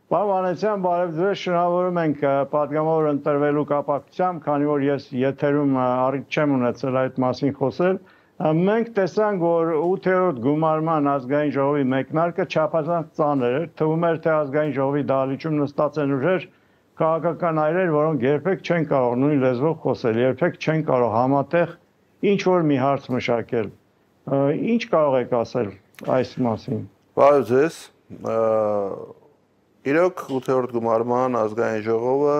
Պարոն Վանեցյան, բարև ձեզ, շնորհավորում ենք պատգամավոր ընտրվելու կապակցությամբ, քանի որ ես եթերում առիթ չեմ ունեցել այդ մասին խոսել։ Մենք տեսանք, որ 8-րդ գումարման ազգային ժողովի մեկնարկը չափազանց ծանր էր, թվում էր, թե ազգային ժողովի դահլիճում նստած են ուժեր քաղաքական այրեր, որոնք երբեք չեն կարող նույն լեզվով խոսել, երբեք չեն կարող համատեղ ինչ որ մի հարց մշակել։ Ինչ կարող եք ասել այս մասին։ Բարև ձեզ։ Իրոք 8-րդ գումարման ազգային ժողովը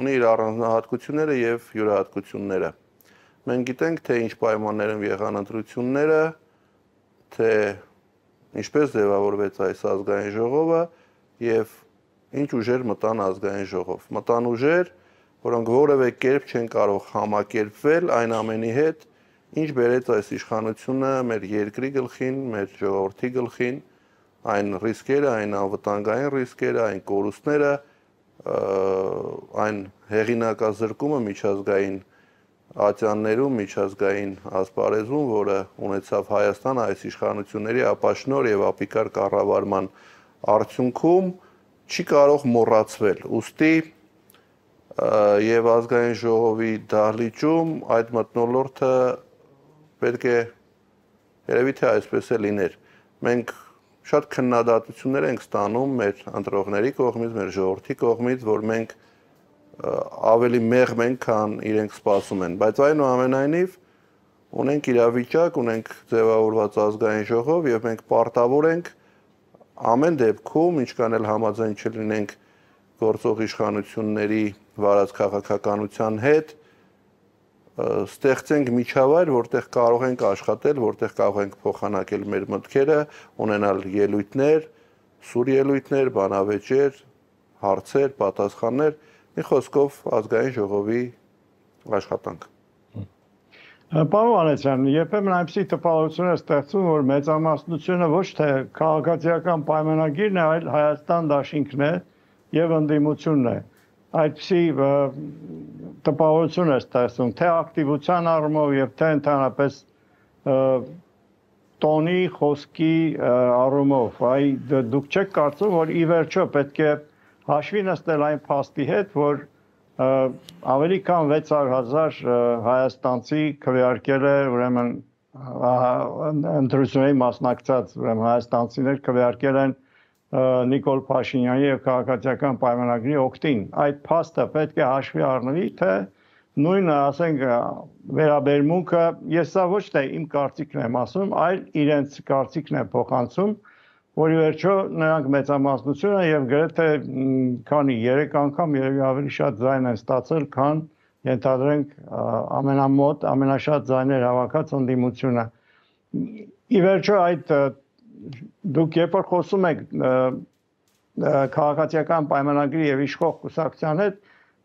ունի իր առանձնահատկությունները եւ յուրահատկությունները։ Մենք գիտենք, թե ինչ պայմաններում եղան ընտրությունները, թե ինչպես ձևավորվեց այս ազգային ժողովը եւ ինչ ուժեր մտան ազգային ժողով։ Մտան ուժեր, որոնք որևէ կերպ չեն կարող համակերպվել այն ամենի հետ, ինչ բերեց այս իշխանությունը մեր երկրի գլխին, մեր ժողովրդի գլխին, այն ռիսկերը, այն անվտանգային ռիսկերը, այն կորուստները, այն հեղինակազրկումը միջազգային ատյաններում, միջազգային ասպարեզում, որը ունեցավ Հայաստանը այս իշխանությունների ապաշնոր եւ ապիկար կառավարման արդյունքում, չի կարող մոռացվել։ Ուստի եւ ազգային ժողովի դահլիճում այդ մթնոլորտը պետք է երևի թե այսպես է լիներ։ Մենք շատ քննադատություններ ենք ստանում մեր ընտրողների կողմից, մեր ժողովրդի կողմից, որ մենք ավելի մեղմ ենք, քան իրենք սպասում են, բայց այնուամենայնիվ ունենք իրավիճակ, ունենք ձևավորված ազգային ժողով եւ մենք պարտավոր ենք ամեն դեպքում, ինչքան էլ համաձայն չլինենք գործող իշխանությունների վարած քաղաքականության հետ, ստեղծենք միջավայր, որտեղ կարող ենք աշխատել, որտեղ կարող ենք փոխանակել մեր մտքերը, ունենալ ելույթներ, սուր ելույթներ, բանավեճեր, հարցեր, պատասխաններ, մի խոսքով ազգային ժողովի աշխատանք։ Պարոն Վանեցյան, երբեմն այնպիսի տպավորություն է ստեղծում, որ մեծամասնությունը ոչ թե քաղաքացիական պայմանագիրն է, այլ Հայաստան դաշինքն է եւ ընդդիմությունն է։ Այդպիսի տպավորություն է ստեղծում, թե ակտիվության առումով եւ թե ընդհանրապես տոնի, խոսքի առումով, դուք չեք կարծում, որ ի վերջո պետք է հաշվի նստել այն փաստի հետ, որ ավելի քան 600,000 հայաստանցի քվեարկել է, ուրեմն ընտրությունների մասնակցած հայաստանցիներ քվեարկել են Նիկոլ Փաշինյանի եւ քաղաքացիական պայմանագրի օգտին։ Այդ փաստը պետք է հաշվի առնվի, թե նույնը, ասենք, վերաբերմունքը, ես սա ոչ թե իմ կարծիքն եմ ասում, այլ իրենց կարծիքն է փոխանցում, որի վերջո նրանք մեծամասնությունը եւ գրեթե քանի 3 անգամ երևի ավելի շատ ձայն են ստացել, քան ենթադրենք ամենամոտ, ամենաշատ ձայներ հավաքած ընդդիմությունը։ Ի վերջո այդ դուք երբ որ խոսում եք քաղաքացիական պայմանագրի եւ իշխող կուսակցության հետ,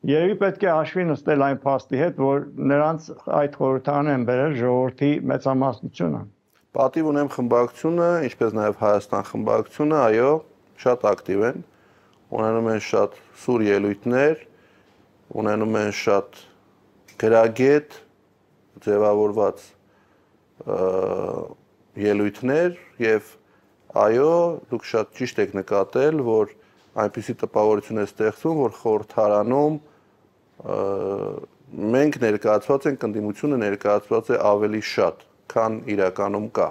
երևի պետք է հաշվի նստել այն փաստի հետ, որ նրանց այդ խորհրդարան են բերել ժողովրդի մեծամասնությունը։ Պատիվ ունեմ խմբակցությունը, ինչպես նաև Հայաստան խմբակցությունը, այո, շատ ակտիվ են, ունենում են շատ սուր ելույթներ, ունենում են շատ գրագետ, ձևավորված ելույթներ եւ այո, դուք շատ ճիշտ եք նկատել, որ այնպիսի տպավորություն է ստեղծում, որ խորհրդարանում մենք ներկայացված ենք, ընդդիմությունը ներկայացված է ավելի շատ, քան իրականում կա։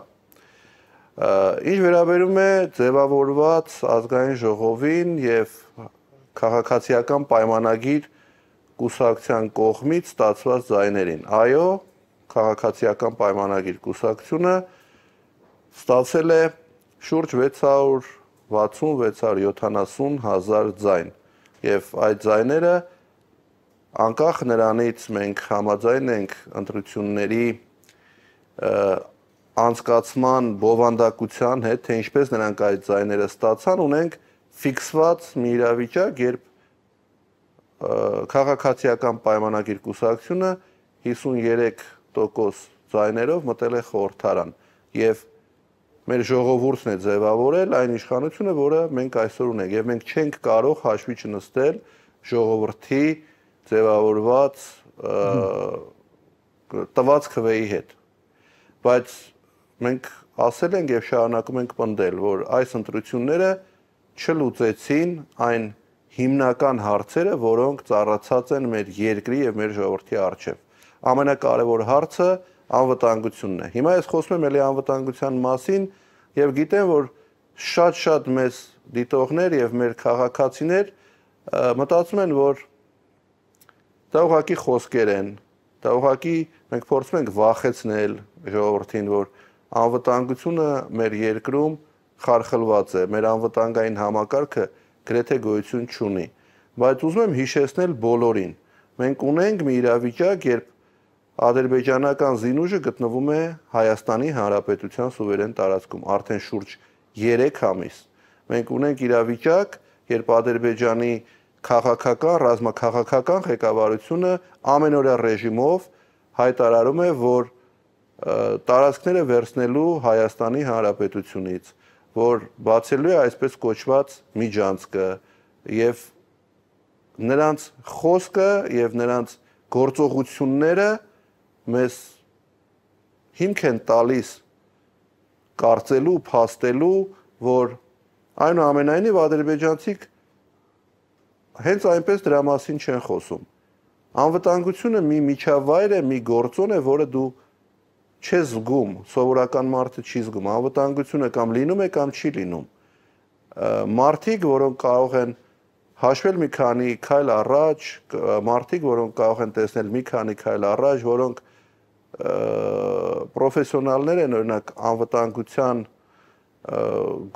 Ինչ վերաբերում է ձևավորված ազգային ժողովին եւ քաղաքացիական պայմանագիր կուսակցության կողմից ստացված ձայներին։ Այո, քաղաքացիական պայմանագիր կուսակցությունը ստացել է շուրջ 660-670,000 ձայն եւ այդ ձայները անկախ նրանից մենք համաձայն ենք ընտրությունների անցկացման բովանդակության հետ, թե ինչպես նրանք այդ ձայները ստացան, ունենք ֆիքսված մի իրավիճակ, երբ քաղաքացիական պայմանագիր կուսակցությունը 53% ձայներով մտել է խորհրդարան եւ մեր ժողովուրդն է ձևավորել այն իշխանությունը, որը մենք այսօր ունենք եւ մենք չենք կարող հաշվի չնստել ժողովրդի ձևավորված տված քվեի հետ։ Բայց մենք ասել ենք եւ շարունակում ենք պնդել, որ այս ընտրությունները չլուծեցին այն հիմնական հարցերը, որոնք ծառացած են մեր երկրի եւ մեր ժողովրդի առջեւ։ Ամենակարևոր հարցը անվտանգությունն է։ Հիմա ես խոսում եմ ելի անվտանգության մասին եւ գիտեմ, որ շատ մեծ դիտողներ եւ մեր քաղաքացիներ մտածում են, որ դա ուղղակի խոսքեր են, դա ուղղակի մենք փորձում ենք վախեցնել ժողովրդին, որ անվտանգությունը մեր երկրում խարխլված է, մեր անվտանգային համակարգը գրեթե գոյություն չունի, բայց ուզում եմ հիշեցնել բոլորին։ Մենք ունենք մի իրավիճակ, երբ ադրբեջանական զինուժը գտնվում է Հայաստանի Հանրապետության սուվերեն տարածքում արդեն շուրջ 3 ամիս։ Մենք ունենք իրավիճակ, երբ Ադրբեջանի քաղաքական, ռազմաքաղաքական ղեկավարությունը ամենօրյա ռեժիմով հայտարարում է, որ տարածքները վերցնելու Հայաստանի Հանրապետությունից, որ բացելու է այսպես կոչված միջանցքը եւ նրանց խոսքը եւ նրանց գործողությունները մեզ հիմք են տալիս կարծելու, փաստելու, որ այնուամենայնիվ ադրբեջանցիք հենց այնպես դրա մասին չեն խոսում։ Անվտանգությունը մի միջավայր է, մի գործոն է, որը դու չես զգում, սովորական մարդը չի զգում, անվտանգությունը կամ լինում է, կամ չի լինում։ Մարդիկ, որոնք կարող են հաշվել մի քանի քայլ առաջ, մարդիկ, որոնք կարող են տեսնել մի քանի քայլ առաջ, որոնք պրոֆեսիոնալներ են, օրինակ անվտանգության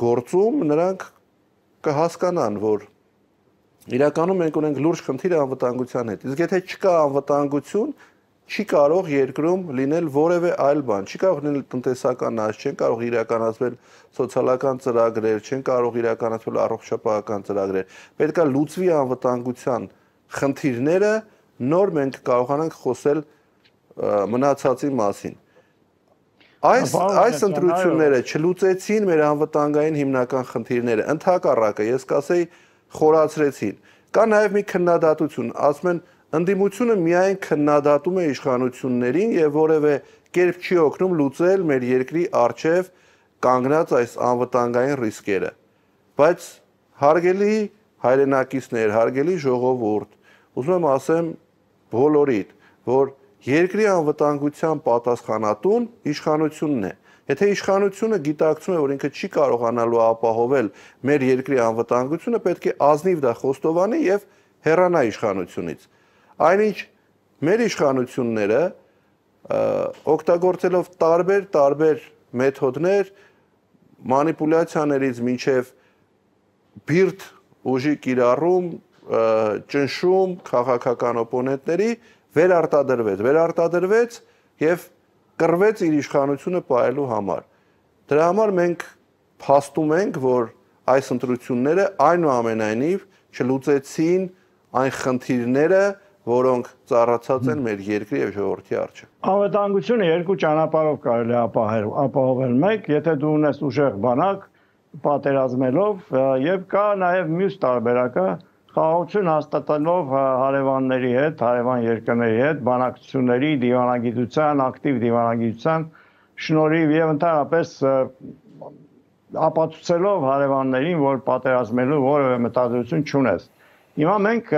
գործում, նրանք կհասկանան, որ իրականում մենք ունենք լուրջ խնդիր անվտանգության հետ։ Իսկ եթե չկա անվտանգություն, չի կարող երկրում լինել որևէ այլ բան, չի կարող լինել տնտեսական աճ, չեն կարող իրականացվել սոցիալական ծրագրեր, չեն կարող իրականացվել առողջապահական ծրագրեր։ Պետք է լուծվի անվտանգության խնդիրները, նոր մենք կարողանանք խոսել մնացածի մասին։ Այս ընտրությունները չլուծեցին մեր անվտանգային հիմնական խնդիրները, ընդհակառակը, ես կասեի, խորացրեցին։ Կա նաև մի քննադատություն, ասում են ընդդիմությունը միայն քննադատում է իշխանություններին եւ որևէ կերպ չի օգնում լուծել մեր երկրի առջև կանգնած այս անվտանգային ռիսկերը։ Բայց հարգելի հայրենակիցներ, հարգելի ժողովուրդ, ուզում եմ ասեմ բոլորիդ, որ երկրի անվտանգության պատասխանատուն իշխանությունն է։ Եթե իշխանությունը գիտակցում է, որ ինքը չի կարողանալու ապահովել մեր երկրի անվտանգությունը, պետք է ազնիվ դա խոստովանի եւ հեռանա իշխանությունից։ Այնինչ մեր իշխանությունները օգտագործելով տարբեր մեթոդներ, մանիպուլյացիաներից մինչև բիրտ ուժի կիրառում, ճնշում քաղաքական օպոնենտների վերարտադրվեց եւ կռվեց իր իշխանությունը պահելու համար։ Դրա համար մենք փաստում ենք, որ այս ընտրությունները այնուամենայնիվ չլուծեցին այն խնդիրները, որոնք ծառացած են մեր երկրի եւ ժողովրդի առջեւ։ Անվտանգությունը երկու ճանապարհով կարելի է ապահովել։ Մեկ, եթե դու ունես ուժեղ բանակ, պատերազմելով, եւ կա նաեւ մյուս տարբերակը, խաղաղություն հաստատելով հարևանների հետ, հարևան երկրների հետ, բանակցությունների, դիվանագիտության, ակտիվ դիվանագիտության շնորհիվ եւ ընդհանրապես ապացուցելով հարևաններին, որ պատերազմելու որևէ մտադրություն չունես։ Հիմա մենք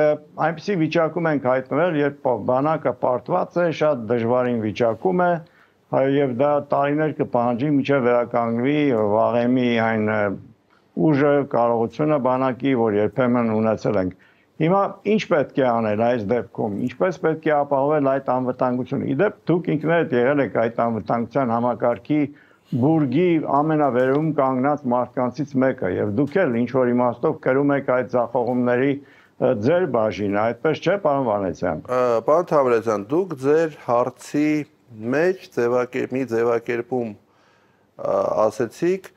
այնպիսի վիճակում ենք հայտնվել, երբ բանակը պարտված է, շատ դժվարին վիճակում է, եւ դա տարիներ կպահանջի մինչեւ վերականգնվի վաղեմի այն ուժը, կարողությունը բանակի, որ երբեմն ունեցել ենք։ Հիմա ինչ պետք է անել այս դեպքում, ինչպես պետք է ապահովել այդ անվտանգությունը։ Իդեպ դուք ինքներդ եղել եք այդ անվտանգության համակարգի բուրգի ամենավերում կանգնած մարդկանցից մեկը, եւ դուք էլ ինչ որ իմաստով կրում եք այդ ձախողումների ձեր բաժինը, այդպես չէ, պարոն Վանեցյան։ Պարոն Թամրազյան, դուք ձեր հարցի մեջ մի ձևակերպում ասեցիք,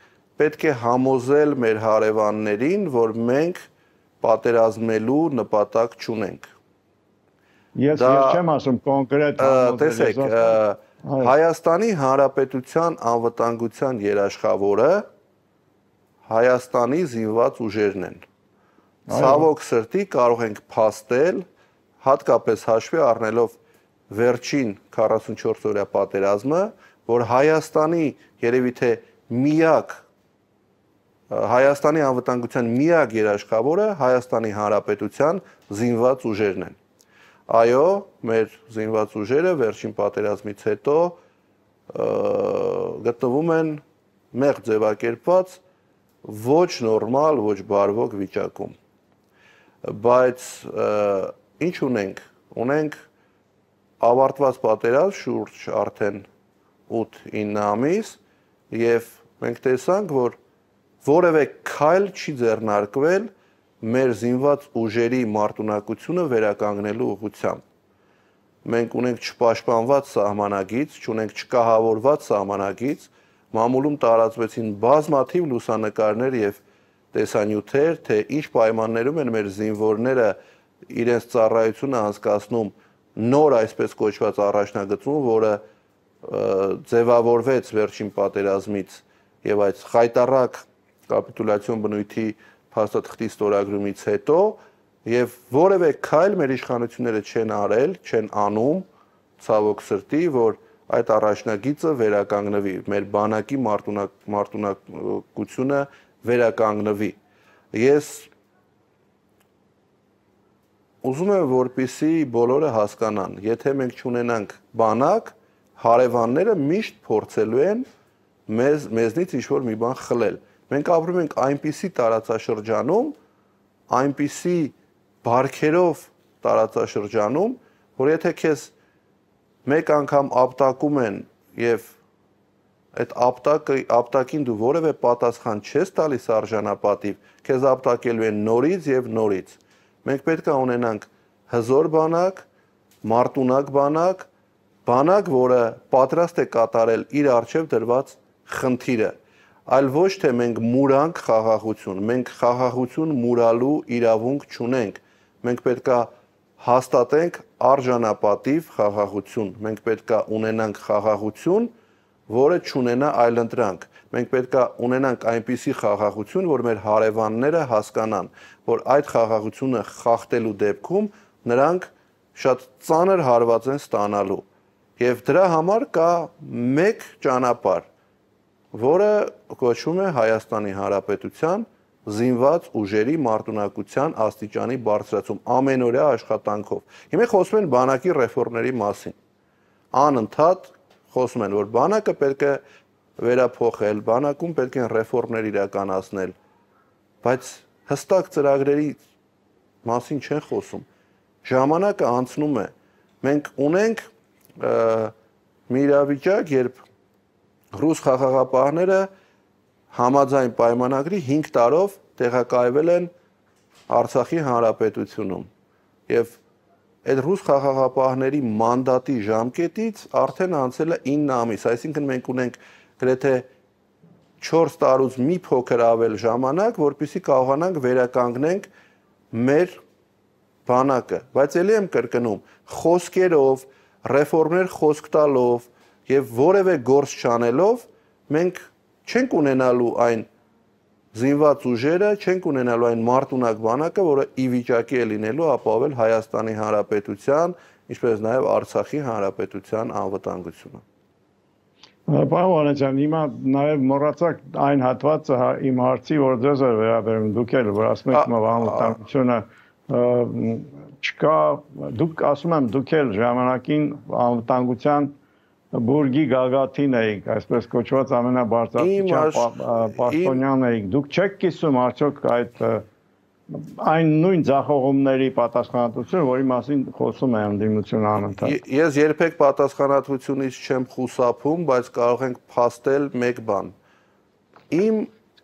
պետք է համոզել մեր հարևաններին, որ մենք պատերազմելու նպատակ չունենք։ Ես չեմ ասում կոնկրետ տեսեք, Հայաստանի Հանրապետության անվտանգության երաշխավորը Հայաստանի զինված ուժերն են։ Ցավոք սրտի կարող ենք փաստել, հատկապես հաշվի առնելով վերջին 44 օրյա պատերազմը, որ Հայաստանի երևի թե միակ Հայաստանի անվտանգության միակ երաշխավորը Հայաստանի Հանրապետության զինված ուժերն են։ Այո, մեր զինված ուժերը վերջին պատերազմից հետո գտնվում են մեղ ձևակերպված ոչ նորմալ, ոչ բարվոք վիճակում։ Բայց ինչ ունենք։ Ունենք ավարտված պատերազմ շուրջ արդեն 8-9 ամիս եւ մենք տեսանք, որ որևէ քայլ չի ձեռնարկվել մեր զինված ուժերի մարտունակությունը վերականգնելու ուղղությամբ։ Մենք ունենք չպաշտպանված սահմանագիծ, չունենք չկահավորված սահմանագիծ, մամուլում տարածվեցին բազմաթիվ լուսանկարներ եւ տեսանյութեր, թե ինչ պայմաններում են մեր զինվորները իրենց ծառայությունը անցկացնում նոր այսպես կոչված առաջնագծում, որը ձևավորվեց վերջին պատերազմից եւ այդ խայտառակ կապիտուլյացիոն բնույթի փաստաթղթի ստորագրումից հետո եւ որևէ քայլ մեր իշխանությունները չեն արել, չեն անում, ցավոք սրտի, որ այդ առաջնագիծը վերականգնվի, մեր բանակի մարտունակությունը վերականգնվի։ Ես ուզում եմ, որպեսզի բոլորը հասկանան, եթե մենք չունենանք բանակ, հարևանները միշտ փորձելու են մեզնից ինչ-որ մի բան խլել։ Մենք ապրում ենք այնպիսի տարածաշրջանում, այնպիսի բարքերով տարածաշրջանում, որ եթե քեզ մեկ անգամ ապտակում են եւ այդ ապտակին դու որևէ պատասխան չես տալիս արժանապատիվ, քեզ ապտակելու են նորից եւ նորից։ Մենք պետք է ունենանք հզոր բանակ, մարտունակ բանակ, բանակ, որը պատրաստ է կատարել իր առջև դրված խնդիրը, այլ ոչ թե մենք մուրանք խաղաղություն, մենք խաղաղություն մուրալու իրավունք չունենք, մենք պետք է հաստատենք արժանապատիվ խաղաղություն, մենք պետք է ունենանք խաղաղություն, որը չունենա այլընտրանք, մենք պետք է ունենանք այնպիսի խաղաղություն, որ մեր հարևանները հասկանան, որ այդ խաղաղությունը խախտելու դեպքում նրանք շատ ծանր հարված են ստանալու։ Եվ դրա համար կա մեկ ճանապարհ, որը կոչվում է Հայաստանի Հանրապետության զինված ուժերի մարտունակության աստիճանի բարձրացում ամենօրյա աշխատանքով։ Հիմա խոսում են բանակի ռեֆորմների մասին։ Անընդհատ խոսում են, որ բանակը պետք է վերափոխել, բանակում պետք է ռեֆորմներ իրականացնել, բայց հստակ ծրագրերի մասին չեն խոսում։ Ժամանակը անցնում է։ Մենք ունենք մի իրավիճակ, երբ ռուս խաղաղապահները համաձայն պայմանագրի 5 տարով տեղակայվել են Արցախի Հանրապետությունում եւ այդ ռուս խաղաղապահների մանդատի ժամկետից արդեն անցել է 9 ամիս, այսինքն մենք ունենք գրեթե 4 տարուց մի փոքր ավել ժամանակ, որպեսզի կարողանանք վերականգնենք մեր բանակը, բայց ելի եմ կրկնում, խոսքերով, ռեֆորմներ խոսք տալով եւ որևէ գործ չանելով մենք չենք ունենալու այն զինված ուժերը, չենք ունենալու այն մարտունակ բանակը, որը ի վիճակի է լինելու ապահովել Հայաստանի Հանրապետության, ինչպես նաև Արցախի Հանրապետության անվտանգությունը։ Պարոն Վանեցյան, հիմա նաև մոռացաք այն հատվածը իմ հարցի, որ ձեզ է վերաբերում, դուք էլ որ ասում եք անվտանգությունը չկա, դուք ասում եմ, դուք էլ ժամանակին անվտանգության բուրգի գագաթին էիք, այսպես կոչված ամենաբարձրաստիճան պաշտոնյան էիք, դուք չեք կիսում արդյոք այն նույն ձախողումների պատասխանատվությունը, որի մասին խոսում է ընդդիմությունը անընդհատ։ Ես երբեք պատասխանատվությունից չեմ խուսափում, բայց կարող ենք փաստել մեկ բան։ Իմ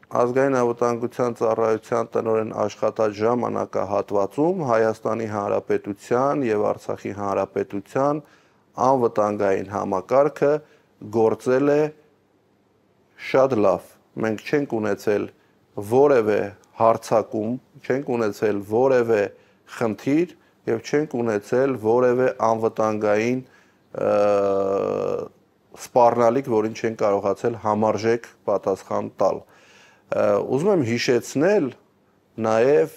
ազգային անվտանգության ծառայության տնօրեն աշխատած ժամանակահատվածում Հայաստանի Հանրապետության եւ Արցախի Հանրապետության անվտանգային համակարգը գործել է շատ լավ։ Մենք չենք ունեցել որևէ հարցակում, չենք ունեցել որևէ խնդիր եւ չենք ունեցել որևէ անվտանգային սպառնալիք, որին չեն կարողացել համարժեք պատասխան տալ։ Ուզում եմ հիշեցնել նաեւ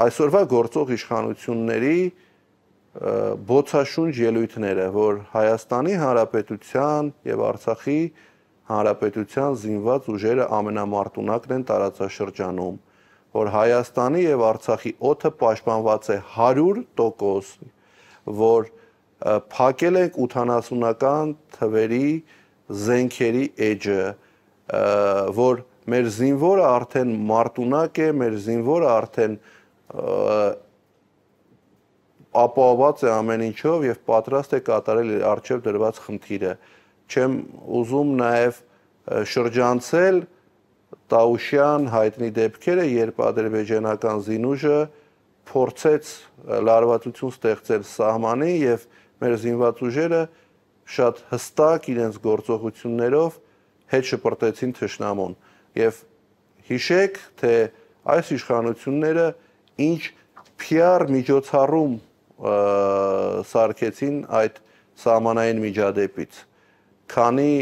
այսօրվա գործող իշխանությունների բոցաշունչ ելույթները, որ Հայաստանի Հանրապետության եւ Արցախի Հանրապետության զինված ուժերը ամենամարտունակն են տարածաշրջանում, որ Հայաստանի եւ Արցախի օդը պաշտպանված է 100%, որ փակել ենք 80-ական թվերի զենքերի էջը, որ մեր զինվորը արդեն մարտունակ է, մեր զինվորը արդեն ապահովված է ամեն ինչով եւ պատրաստ է կատարել իր արժեվ դրված խնդիրը։ Չեմ ուզում նաեւ շրջանցել Տաուշյան հայտնի դեպքերը, երբ ադրբեջանական զինուժը փորձեց լարվածություն ստեղծել սահմանին եւ մեր զինված ուժերը շատ հստակ իրենց գործողություններով հետ շպրտեցին թշնամուն եւ հիշեք թե այս իշխանությունները ինչ PR միջոցառում սարքեցին այդ սահմանային միջադեպից, քանի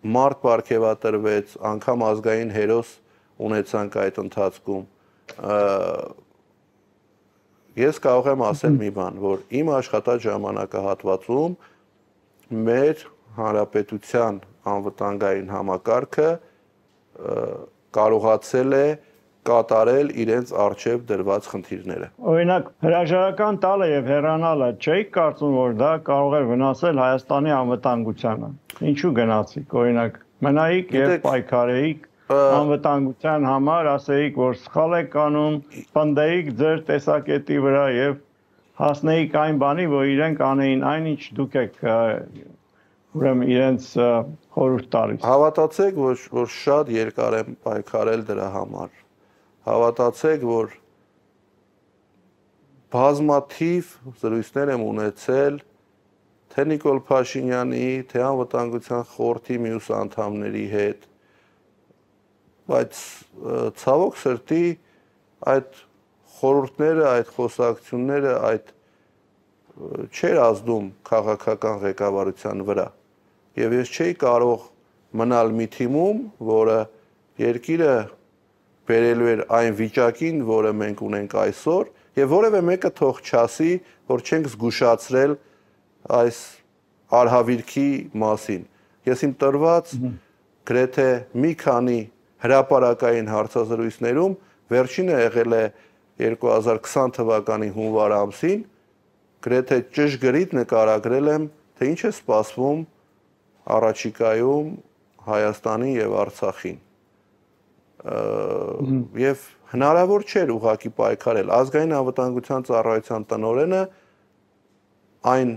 մարդ պարգևատրվեց, անգամ ազգային հերոս ունեցանք այդ ընթացքում։ Ես կարող եմ ասել մի բան, որ իմ աշխատած ժամանակահատվածում մեր հանրապետության անվտանգային համակարգը կարողացել է կատարել իրենց արժեվ դրված խնդիրները։ Օրինակ, հրաժարական տալը եւ հեռանալը չէի կարծում, որ դա կարող է վնասել Հայաստանի անվտանգությանը։ Ինչու գնացիք, օրինակ, մնայիք եւ պայքարեիք անվտանգության համար, ասեիք, որ սխալ եք անում, պնդեիք ձեր տեսակետի վրա եւ հասնեիք այն բանի, որ իրենք անեին այնինչ դուք եք ուրեմն իրենց խորհուրդ տալիս։ Հավատացեք, որ շատ երկար եմ պայքարել դրա համար։ Հավատացեք, որ բազմաթիվ զրույցներ եմ ունեցել թե Նիկոլ Փաշինյանի, թե անվտանգության խորհրդի մյուս անդամների հետ, բայց ցավոք սրտի այդ խորհուրդները, այդ խոսակցությունները, այդ չէր ազդում քաղաքական ղեկավարության վրա։ Եվ ես չէի կարող մնալ մի թիմում, որը երկիրը բերելու էր այն վիճակին, որը մենք ունենք այսօր, եւ որևէ մեկը թող չասի, որ չենք զգուշացրել այս արհավիրքի մասին։ Ես իմ տրված գրեթե մի քանի հրապարակային հարցազրույցներում վերջինը եղել է 2020 թվականի հունվար ամսին, գրեթե ճշգրիտ նկարագրել եմ, թե ինչ է սպասվում առաջիկայում Հայաստանի եւ Արցախին։ Եվ հնարավոր չէր ուղղակի պայքարել։ Ազգային անվտանգության ծառայության տնօրենը այն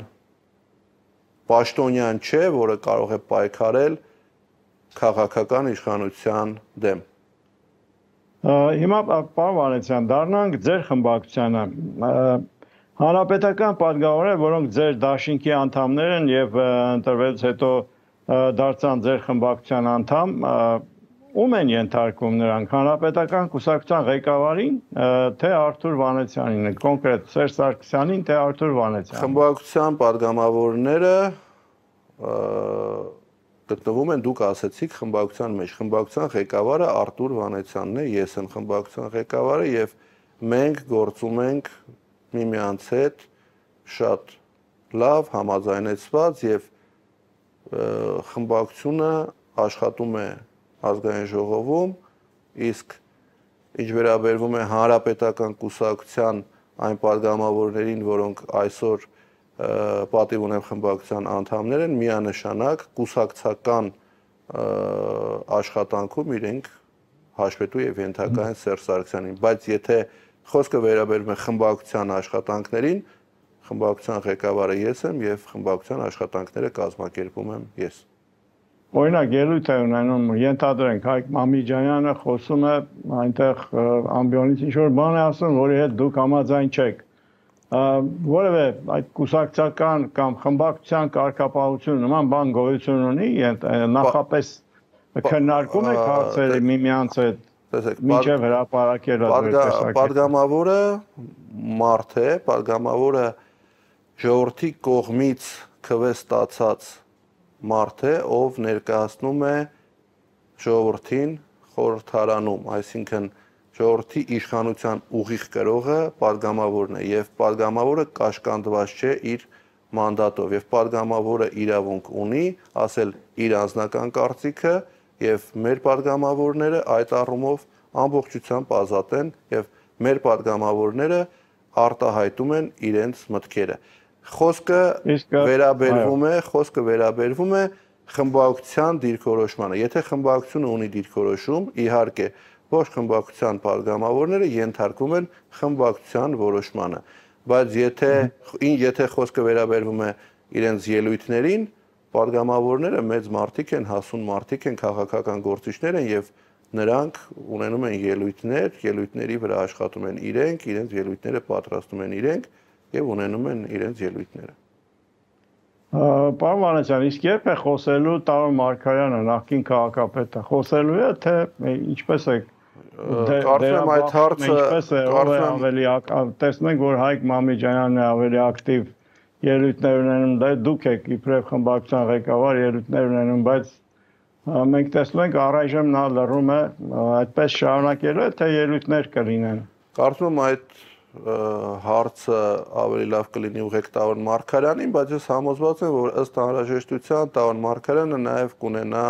պաշտոնյան չէ, որը կարող է պայքարել քաղաքական իշխանության դեմ։ Հիմա պարոն Վանեցյան, դառնանք ձեր խմբակցությանը։ Հանրապետական պատգամավորները, որոնք ձեր դաշինքի անդամներ են եւ ընտրվելուց հետո դարձան ձեր խմբակցության անդամ, ում են ենթարկում նրանք, հանրապետական կուսակցության ղեկավարին, թե Արթուր Վանեցյանին, կոնկրետ Սերժ Սարգսյանին, թե Արթուր Վանեցյանին։ Խմբակցության պատգամավորները գտնվում են, դուք ասեցիք, խմբակցության մեջ։ Խմբակցության ղեկավարը Արթուր Վանեցյանն է, ես եմ խմբակցության ղեկավարը եւ մենք գործում ենք միմյանց հետ շատ լավ, համաձայնեցված եւ խմբակցությունը աշխատում է ազգային ժողովում, իսկ ինչ վերաբերվում է հանրապետական կուսակցության այն պատգամավորներին, որոնք այսօր պատիվ ունեն խմբակցության անդամներ են, միանշանակ կուսակցական աշխատանքում իրենք հաշվետու եւ ենթակա են Սերժ Սարգսյանին, բայց եթե խոսքը վերաբերում է խմբակցության աշխատանքներին, խմբակցության ղեկավարը ես եմ եւ խմբակցության աշխատանքները կազմակերպում եմ ես։ Օրինակ ելույթ է ունենում, ենթադրենք Հայկ Մամիջանյանը խոսում է այնտեղ ամբիոնից ինչ որ բան է ասում, որի հետ դուք համաձայն չեք։ Որևէ այդ կուսակցական կամ խմբակցության կարգապահություն նման բան գոյություն ունի, նախապես քննարկում եք հարցերը միմյանց հետ, մինչև հրապարակելը ձեր տեսակետը։ Պատգամավորը մարդ է, պատգամավորը ժողովրդի կողմից քվեստացած մարդ է, ով ներկայացնում է ժողովրդին խորհրդարանում, այսինքն ժողովրդի իշխանության ուղիղ կրողը պատգամավորն է եւ պատգամավորը կաշկանդված չէ իր մանդատով եւ падգամավորը իրավունք ունի ասել իր անձնական կարծիքը եւ մեր падգամավորները այդ առումով ամբողջությամբ ազատ են եւ մեր падգամավորները արտահայտում են իրենց մտքերը խոսքը վերաբերվում է խմբակցության դիրքորոշմանը եթե խմբակցությունը ունի դիրքորոշում իհարկե ոչ խմբակցության падգամավորները ենթարկվում են խմբակցության որոշմանը բայց եթե խոսքը վերաբերվում է իրենց ելույթներին падգամավորները մեծ մարդիկ են հասուն մարդիկ են քաղաքական գործիչներ են եւ նրանք ունենում են ելույթների վրա աշխատում են իրենք ելույթները պատրաստում են իրենք եւ ունենում են իրենց ելույթները Պարոն Մանասյան իսկ երբ է խոսելու Տարոն Մարգարյանը նախկին քաղաքապետը խոսելու է թե ինչպես է կարծում եմ այդ հարցը ավելի տեսնենք որ Հայկ Մամիջանյանն է ավելի ակտիվ ելույթներ ունենում դա դուք եք իբրև խմբակցության ղեկավար ելույթներ ունենում բայց մենք տեսնում ենք առայժմ նա լռում է այդպես շարունակելու է թե ելույթներ կլինեն Կարծում եմ այդ հարցը ավելի լավ կլինի ուղղեք Տարոն Մարգարյանին բայց ես համոզված եմ որ ըստ անհրաժեշտության Տարոն Մարգարյանը նաև կունենա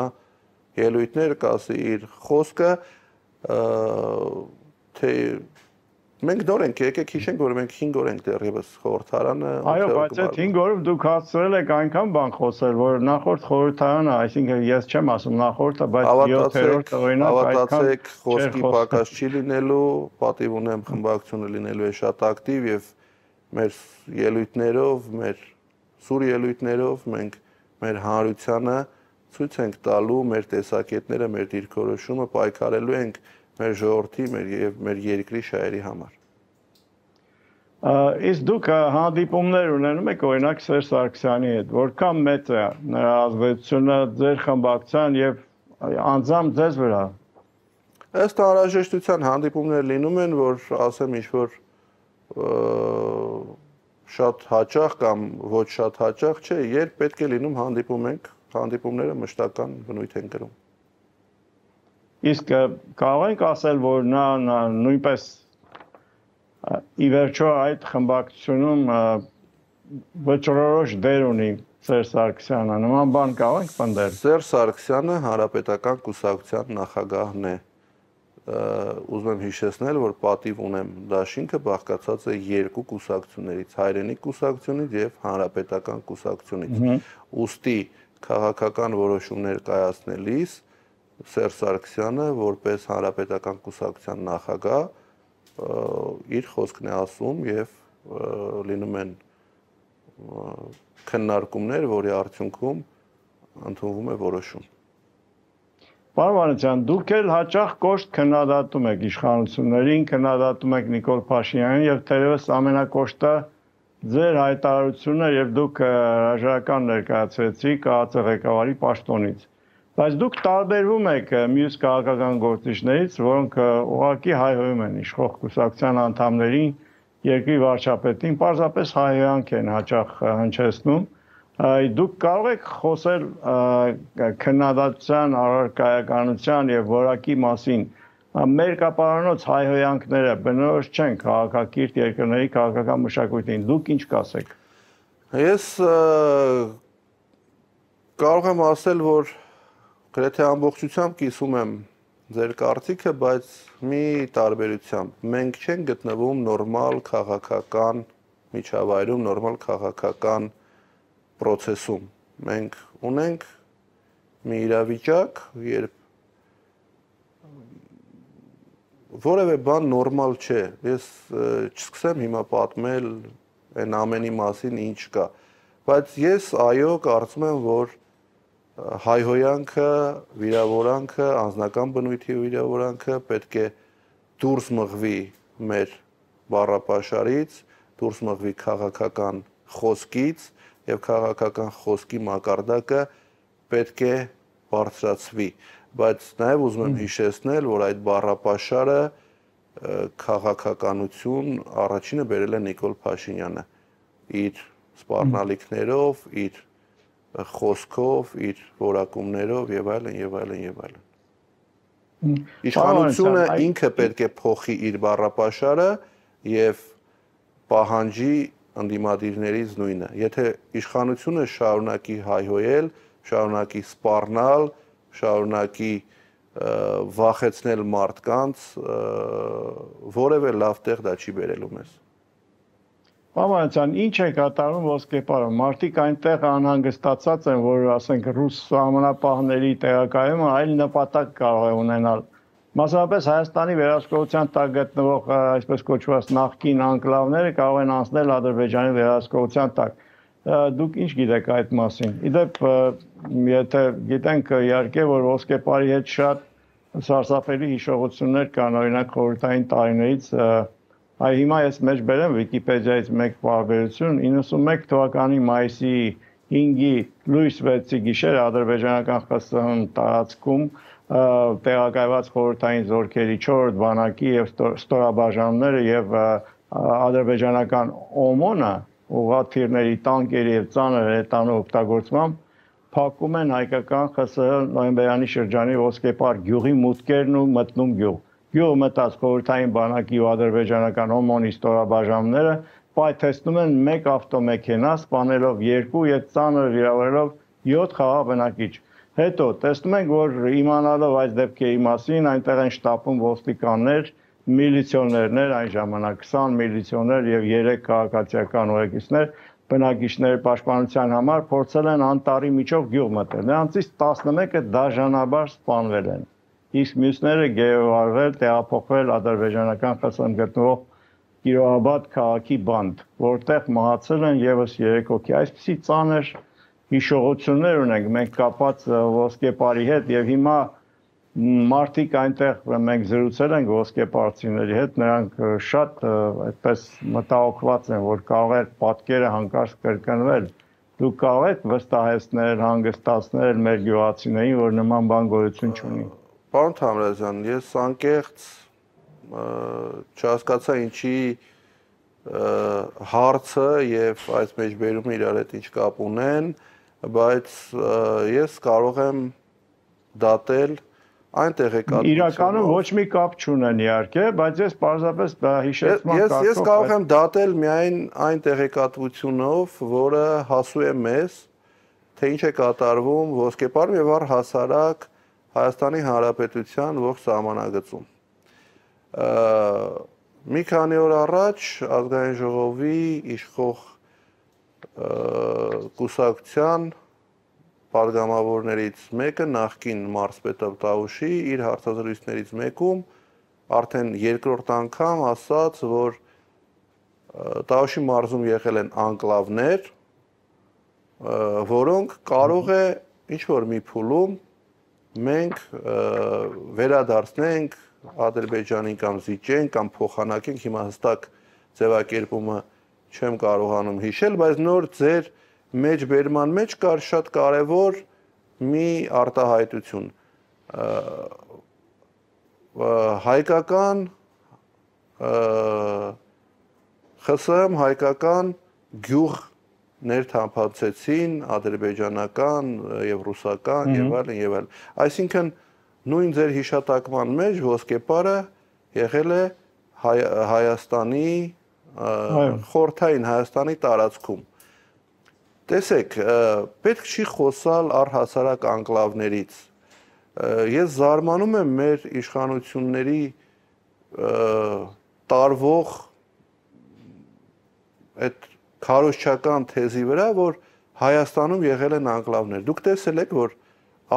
ելույթներ կասի իր խոսքը թե մենք նոր ենք եկեք հիշենք որ մենք 5 օր ենք դեռևս խորհրդարանը Այո բայց այդ 5 օրով դուք հասցրել եք այնքան բան խոսել որ նախորդ խորհրդարանը այսինքն ես չեմ ասում նախորդը բայց 7-րդ օրինակ այդքան խոսքի պակաս չի լինելու պատիվ ունեմ խմբակցությունը լինելու է շատ ակտիվ եւ մեր ելույթներով մեր սուր ելույթներով մենք մեր հանրությանը ցույց ենք տալու մեր տեսակետները մեր դիրքորոշումը պայքարելու ենք մեր ժողովրդի եւ մեր երկրի շահերի համար Իսկ դուք հանդիպումներ ունենում եք օրինակ Սերժ Սարգսյանի հետ որքան մեծ է նրա ազդեցությունը ձեր խմբակցության եւ անձամբ ձեզ վրա Ըստ անհրաժեշտության հանդիպումներ լինում են որ ասեմ ինչ որ շատ հաճախ կամ ոչ շատ հաճախ չէ երբ պետք է լինում հանդիպում ենք հանդիպումները մշտական բնույթ են կրում Իսկ կարող ենք ասել, որ նա նույնպես ի վերջո այդ խմբակցությունում վճռորոշ դեր ունի Սերժ Սարգսյանը, նման բան կարող ենք պնդել։ Սերժ Սարգսյանը Հանրապետական կուսակցության նախագահն է։ Ուզում եմ հիշեցնել, որ պատիվ ունեմ դաշինքը բաղկացած է երկու կուսակցություններից՝ Հայրենիք կուսակցությունից եւ Հանրապետական կուսակցությունից։ Ուստի քաղաքական որոշումներ կայացնելիս Սերժ Սարգսյանը որպես Հանրապետական կուսակցության նախագահ իր խոսքն է ասում եւ լինում են քննարկումներ, որի արդյունքում ընդունվում է որոշում։ Պարոն Մանասյան, դուք էլ հաճախ կոշտ քննադատում եք իշխանություններին, քննադատում եք Նիկոլ Փաշինյանին եւ թերևս ամենակոշտը ձեր հայտարարությունը եւ դուք հրաժարական ներկայացրեցիք ԱԱԾ ղեկավարի պաշտոնից։ Բայց դուք տարբերվում եք մյուս քաղաքական գործիչներից, որոնք ուղղակի հայհոյում են իշխող կուսակցության անդամներին, երկրի վարչապետին, պարզապես հայհոյանք են հաճախ հնչեցնում։ Դուք կարող եք խոսել քննադատության, առարկայականության եւ որակի մասին։ Մերկապարանոց հայհոյանքները բնորոշ չեն քաղաքակիրթ երկրների քաղաքական մշակույթին։ Դուք ինչ կասեք։ Ես կարող եմ ասել, որ գրեթե ամբողջությամբ կիսում եմ ձեր կարծիքը, բայց մի տարբերությամբ մենք չենք գտնվում նորմալ քաղաքական միջավայրում, նորմալ քաղաքական process-ում։ Մենք ունենք մի իրավիճակ, երբ որևէ բան նորմալ չէ։ Ես չսկսեմ հիմա պատմել այն ամենի մասին ինչ կա, բայց ես այո կարծում եմ, որ հայհոյանքը, վիրավորանքը, անձնական բնույթի վիրավորանքը պետք է դուրս մղվի մեր բառապաշարից, դուրս մղվի քաղաքական խոսքից եւ քաղաքական խոսքի մակարդակը պետք է բարձրացվի, բայց նաեւ ուզում եմ հիշեցնել, որ այդ բառապաշարը քաղաքականություն առաջինը բերել է Նիկոլ Փաշինյանը իր սպառնալիքներով, իր խոսքով, իր որակումներով եւ այլն եւ այլն եւ այլն։ Իշխանությունը ինքը պետք է փոխի իր բառապաշարը եւ պահանջի ընդդիմադիրներից նույնը։ Եթե իշխանությունը շարունակի հայհոյել, շարունակի սպառնալ, շարունակի վախեցնել մարդկանց, որևէ լավ տեղ դա չի բերելու մեզ։ Պարոն, ինչ է կատարում ոսկեպարը։ Մարդիկ այնտեղ անհանգստացած են, որ ասենք ռուս սահմանապահների տեղակայումը այլ նպատակ կարող է ունենալ։ Մասնավորապես Հայաստանի վերահսկողության տակ գտնվող այսպես կոչված նախկին անկլավները կարող են անցնել Ադրբեջանի վերահսկողության տակ։ Դուք ինչ գիտեք այդ մասին։ Իդեպ, եթե գիտենք իհարկե, որ ոսկեպարի հետ շատ սարսափելի հիշողություններ կան, օրինակ խորհրդային տարիներից, հիմա ես մեջ բերեմ Վիկիպեդիայից մեկ պարբերություն, 91 թվականի մայիսի 5-ի լույս 6-ի գիշեր ադրբեջանական ԽՍՀՄ տարածքում տեղակայված խորհրդային զորքերի 4 բանակի եւ ստորաբաժանումները եւ ադրբեջանական ՕՄՕՆ-ը ուղղաթիռների, տանկերի եւ ծանր հրետանու օգտագործմամբ փակում են հայկական ԽՍՀ նոյեմբերյանի շրջանի ոսկեպար գյուղի մուտքերն ու մտնում գյուղ։ Գյուղը մտած խորհրդային բանակի ու ադրբեջանական ՕՄՕՆ-ի ստորաբաժանումները պայթեցնում են մեկ ավտոմեքենա, սպանելով 2 եւ ծանր վիրավորելով 7 խաղաղ բնակիչ։ Հետո տեսնում ենք, որ իմանալով այս դեպքերի մասին այնտեղ են շտապում ոստիկաններ, միլիցիոներներ այն ժամանակ 20 միլիցիոներ եւ 3 քաղաքացիական ուղեկիցներ բնակիչների պաշտպանության համար փորձել են անտառի միջով գյուղ մտնել։ Նրանցից 11-ը դաժանաբար սպանվել են։ Իսկ մյուսները գերեվարվել, տեղափոխվել ադրբեջանական ԽՍՀՄ գտնվող Կիրոհաբադ քաղաքի բանտ, որտեղ մահացել են եւս 3 հոգի։ Այսպիսի ծանր հիշողություններ ունենք մենք կապած ոսկեպարի հետ եւ հիմա մարդիկ այնտեղ մենք զրուցել ենք ոսկեպարցիների հետ, նրանք շատ այդպես մտահոգված են, որ կարող է պատկերը հանկարծ կրկնվել։ Դուք կարող եք վստահեցնել, հանգստացնել մեր գյուղացիներին, որ նման բան գոյություն չունի։ Պարոն Թամրազյան, ես անկեղծ չհասկացա ինչի հարցը եւ այս մեջբերումը իրար հետ ինչ կապ ունեն, բայց ես կարող եմ դատել այն տեղեկատվությունը։ Իրականում ոչ մի կապ չունեն իհարկե, բայց ես պարզապես հիշեցման կարգով ես կարող եմ դատել միայն այն տեղեկատվությունով, որը հասու է մեզ, թե ինչ է կատարվում ոսկեպարում եւ առհասարակ Հայաստանի Հանրապետության ողջ սահմանագծում։ Մի քանի օր առաջ ազգային ժողովի իշխող կուսակցության падգամավորներից մեկը նախկին մարզպետ Տավուշի իր հարցազրույցներից մեկում արդեն երկրորդ անգամ ասաց, որ Տավուշի մարզում եղել են անկլավներ, որոնք կարող է ինչ-որ մի փուլում մենք վերադարձնենք Ադրբեջանին կամ զիջենք կամ փոխանակենք, հիմա հստակ ձևակերպումը չեմ կարողանում հիշել, բայց նոր ձեր մեջբերման մեջ կար շատ կարևոր մի արտահայտություն։ Հայկական ԽՍՀՄ հայկական գյուղ ներթափանցեցին ադրբեջանական եւ ռուսական եւ այլն եւ այլն։ Այսինքն նույն ձեր հիշատակման մեջ ոսկեպարը եղել է Հայաստանի խորհրդային Հայաստանի տարածքում։ Տեսեք, պետք չի խոսալ առհասարակ անկլավներից։ Ես զարմանում եմ մեր իշխանությունների տարվող այդ քարոզչական թեզի վրա, որ Հայաստանում եղել են անկլավներ։ Դուք տեսել եք, որ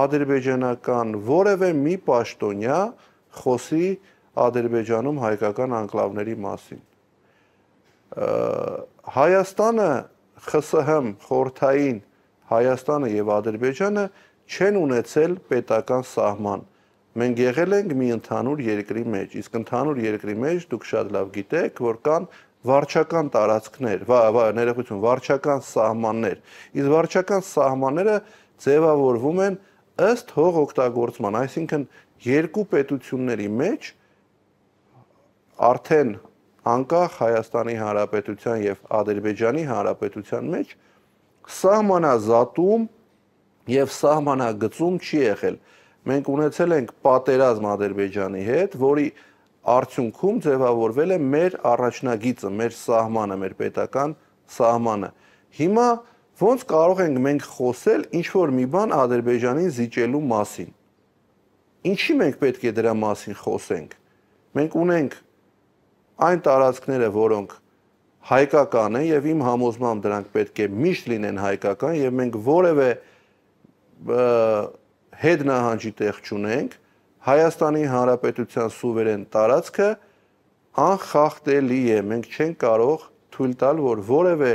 ադրբեջանական որևէ մի պաշտոնյա խոսի Ադրբեջանում հայկական անկլավների մասին։ Հայաստանը, ԽՍՀՄ, խորհրդային Հայաստանը եւ Ադրբեջանը չեն ունեցել պետական սահման։ Մենք եղել ենք մի ընդհանուր երկրի մեջ, իսկ ընդհանուր երկրի մեջ դուք շատ լավ գիտեք, որ կան վարչական տարածքներ, ներողություն, վարչական սահմաններ։ Իսկ վարչական սահմանները ձևավորվում են ըստ հող օգտագործման, այսինքն երկու պետությունների մեջ արդեն անկախ Հայաստանի Հանրապետության եւ Ադրբեջանի Հանրապետության մեջ սահմանազատում եւ սահմանագծում չի եղել։ Մենք ունեցել ենք պատերազմ Ադրբեջանի հետ, որի արդյունքում ձևավորվել է մեր առաջնագիծը, մեր սահմանը, մեր պետական սահմանը։ Հիմա ոնց կարող ենք մենք խոսել ինչ որ մի բան Ադրբեջանին զիջելու մասին։ Ինչի մենք պետք է դրա մասին խոսենք։ Մենք ունենք այն տարածքները, որոնք հայկական են եւ իմ համոզմամբ դրանք պետք է միշտ լինեն հայկական եւ մենք որևէ հետ նահանջի տեղ չունենք, Հայաստանի Հանրապետության սուվերեն տարածքը անխախտելի է, մենք չենք կարող թույլ տալ, որ որևէ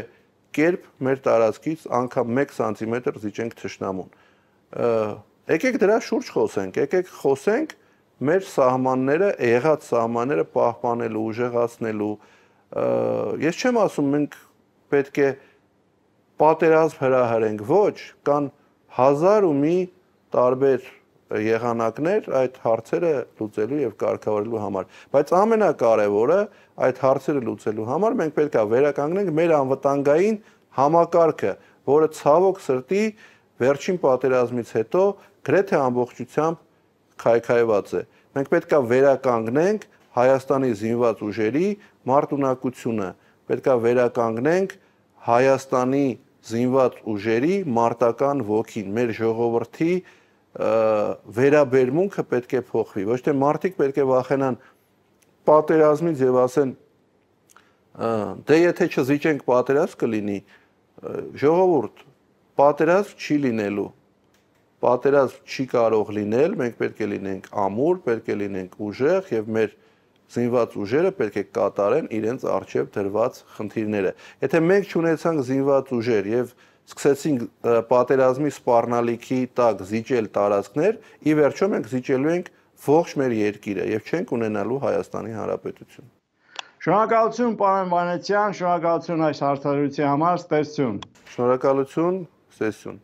կերպ մեր տարածքից անգամ 1 սանտիմետր զիջենք թշնամուն։ Եկեք դրա շուրջ խոսենք, եկեք խոսենք մեր սահմանները, եղած սահմանները պահպանելու, ուժեղացնելու։ Ես չեմ ասում մենք պետք է պատերազմ հրահրենք, ոչ, կան 1000 ու մի տարբեր եղանակներ այդ հարցերը լուծելու եւ կարգավորելու համար, բայց ամենակարևորը այդ հարցերը լուծելու համար մենք պետք է վերականգնենք մեր անվտանգային համակարգը, որը ցավոք սրտի վերջին պատերազմից հետո գրեթե ամբողջությամբ քայքայված է։ Մենք պետք է վերականգնենք Հայաստանի զինված ուժերի մարտունակությունը, պետք է վերականգնենք Հայաստանի զինված ուժերի մարտական ոգին, մեր ժողովրդի վերաբերմունքը պետք է փոխվի, ոչ թե մարդիկ պետք է վախենան պատերազմից եւ ասեն դե եթե չզիջենք պատերազմ կլինի, ժողովուրդ, պատերազմ չի լինելու, պատերազմ չի կարող լինել, մենք պետք է լինենք ամուր, պետք է լինենք ուժեղ եւ մեր զինված ուժերը պետք է կատարեն իրենց արժեվ դրված խնդիրները։ Եթե մենք չունեցանք զինված ուժեր եւ սկսեցինք պատերազմի սպառնալիքի տակ զիջել տարածքներ, ի վերջո մենք զիջելու ենք ողջ մեր երկիրը եւ չենք ունենալու Հայաստանի Հանրապետություն։ Շնորհակալություն պարոն Վանեցյան, շնորհակալություն այս հարցադրության համար, ստեսություն։ Շնորհակալություն, ստեսություն։